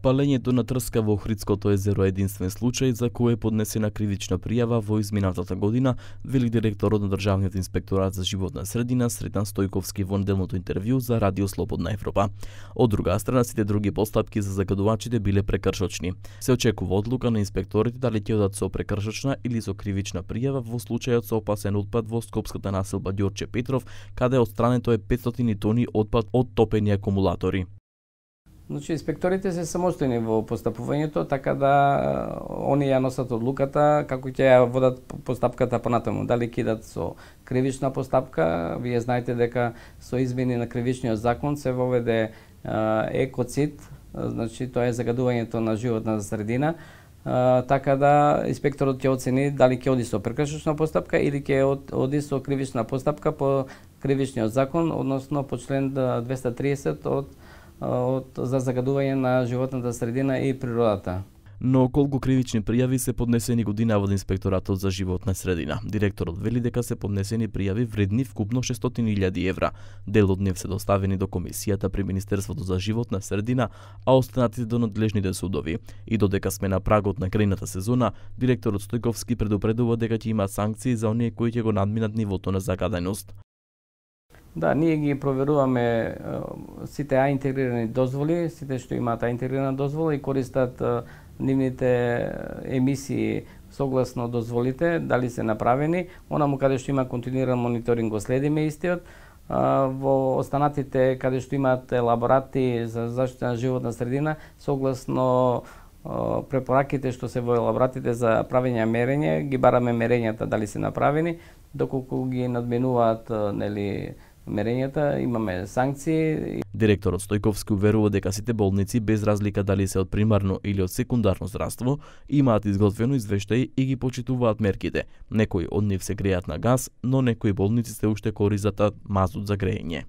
Палењето на трска во Охридското езеро е единствен случај за кој е поднесена кривична пријава во изминатата година, вели директорот на Државниот инспекторат за животна средина Сретан Стојковски во неделното интервју за Радио Слободна Европа. Од друга страна, сите други постапки за загадувачите биле прекршочни. Се очекува одлука на инспекторите дали ќе одат со прекршочна или со кривична пријава во случајот со опасен отпад во скопската населба Ѓорче Петров, каде отстрането е 500 тони отпад од топени акумулатори. Значи, инспекторите се самостојни во постапувањето, така да они ја носат одлуката како ќе ја водат постапката понатаму. Дали ќе идат со кривична постапка, вие знаете дека со измени на кривичниот закон се воведе екоцид, значи тоа е загадувањето на животна средина, така да инспекторот ќе оцени дали ќе оди со прекршочна постапка или ќе оди со кривична постапка по кривичниот закон, односно по член 230 за загадување на животната средина и природата. Но колку кривични пријави се поднесени годинава од Инспекторатот за животна средина? Директорот вели дека се поднесени пријави вредни вкупно 600.000 евра. Дел од нив се доставени до комисијата при Министерството за животна средина, а останатите до надлежните судови. И додека сме на прагот на грејната сезона, директорот Стојковски предупредува дека ќе има санкции за оние кои ќе го надминат нивото на загаденост. Да, ние ги проверуваме сите интегрирани дозволи, сите што имаат интегрирана дозвола и користат нивните емисии согласно дозволите, дали се направени. Онаму каде што има континуиран мониторинг го следиме истиот. Во останатите каде што имаат елаборати за заштита на животна средина, согласно препораките што се во елаборатите за правење мерење, ги бараме мерењата дали се направени, доколку ги надминуваат мерењата, имаме санкции. Директорот Стојковски уверува дека сите болници, без разлика дали се од примарно или од секундарно здравство, имаат изготвено извештај и ги почитуваат мерките. Некои од нив се грејат на газ, но некои болници се уште користат мазут за грејење.